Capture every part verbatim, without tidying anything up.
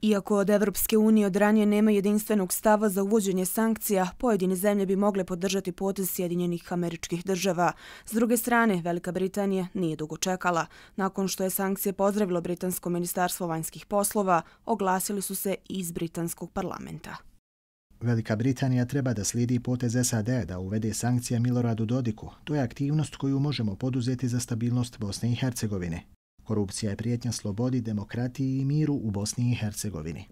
Iako od Evropske unije od ranije nema jedinstvenog stava za uvođenje sankcija, pojedine zemlje bi mogle podržati potez Sjedinjenih Američkih Država. S druge strane, Velika Britanija nije dugo čekala. Nakon što je sankcije pozdravilo Britansko ministarstvo vanjskih poslova, oglasili su se i iz britanskog parlamenta. Velika Britanija treba da slijedi potez S A D da uvede sankcije Miloradu Dodiku. To je aktivnost koju možemo poduzeti za stabilnost Bosne i Hercegovine. Korupcija je prijetnja slobodi, demokratiji i miru u Bosni i Hercegovini.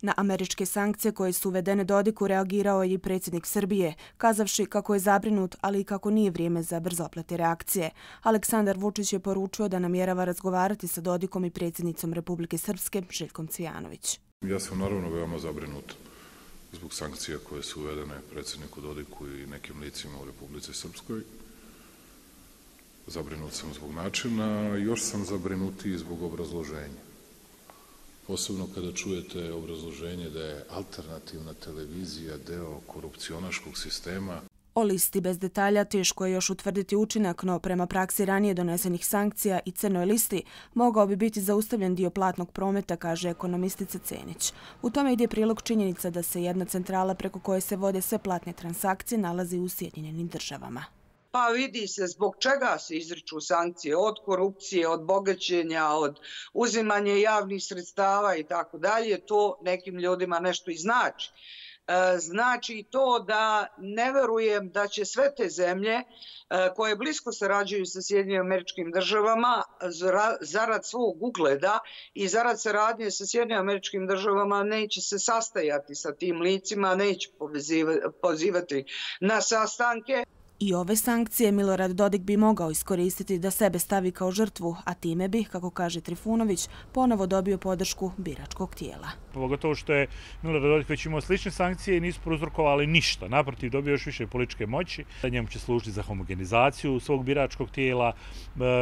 Na američke sankcije koje su uvedene Dodiku reagirao je i predsjednik Srbije, kazavši kako je zabrinut, ali i kako nije vrijeme za brzoplete reakcije. Aleksandar Vučić je poručio da namjerava razgovarati sa Dodikom i predsjednicom Republike Srpske, Željkom Cvijanović. Ja sam naravno veoma zabrinut zbog sankcija koje su uvedene predsjedniku Dodiku i nekim licima u Republici Srpskoj. Zabrinut sam zbog načina, još sam zabrinutiji zbog obrazloženja. Posebno kada čujete obrazloženje da je alternativna televizija deo korupcionaškog sistema. O listi bez detalja teško je još utvrditi učinak, no prema praksi ranije donesenih sankcija i crnoj listi mogao bi biti zaustavljen dio platnog prometa, kaže ekonomistica Cenić. U tome ide prilog činjenica da se jedna centrala preko koje se vode sve platne transakcije nalazi u Sjedinjenim Državama. Pa vidi se zbog čega se izriču sankcije, od korupcije, od bogaćenja, od uzimanja javnih sredstava i tako dalje. To nekim ljudima nešto i znači. Znači to da ne verujem da će sve te zemlje koje blisko sarađuju sa Sjedinjenim Američkim Državama zarad svog ugleda i zarad saradnje sa Sjedinjenim Američkim Državama neće se sastajati sa tim licima, neće pozivati na sastanke. I ove sankcije Milorad Dodik bi mogao iskoristiti da sebe stavi kao žrtvu, a time bi, kako kaže Trifunović, ponovo dobio podršku biračkog tijela. Pogotovo što je Milorad Dodik već imao slične sankcije i nisu prouzrokovali ništa. Naprotiv, dobio još više političke moći. Njemu će služiti za homogenizaciju svog biračkog tijela.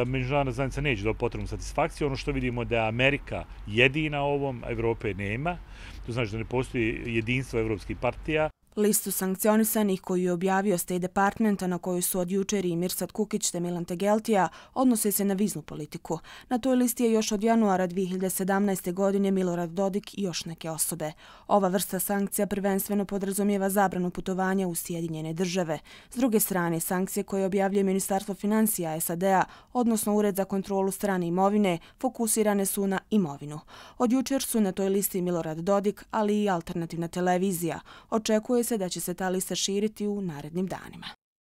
Međunarodna zajednica neće dobiti potrebnu satisfakciju. Ono što vidimo da je Amerika jedina ovom, Evrope nema. To znači da ne postoji jedinstvo evropskih partija. Listu sankcionisanih koju je objavio State Department, na koju su od jučer i Mirsad Kukić te Milan Tegeltija, odnose se na viznu politiku. Na toj listi je još od januara dvije hiljade sedamnaeste. godine Milorad Dodik i još neke osobe. Ova vrsta sankcija prvenstveno podrazumijeva zabranu putovanja u Sjedinjene Države. S druge strane, sankcije koje objavljuje Ministarstvo financija S A D-a, odnosno Ured za kontrolu strane imovine, fokusirane su na imovinu. Od jučer su na toj listi Milorad Dodik, ali i alternativna televizija. Očekuje se da će se ta lista širiti u narednim danima.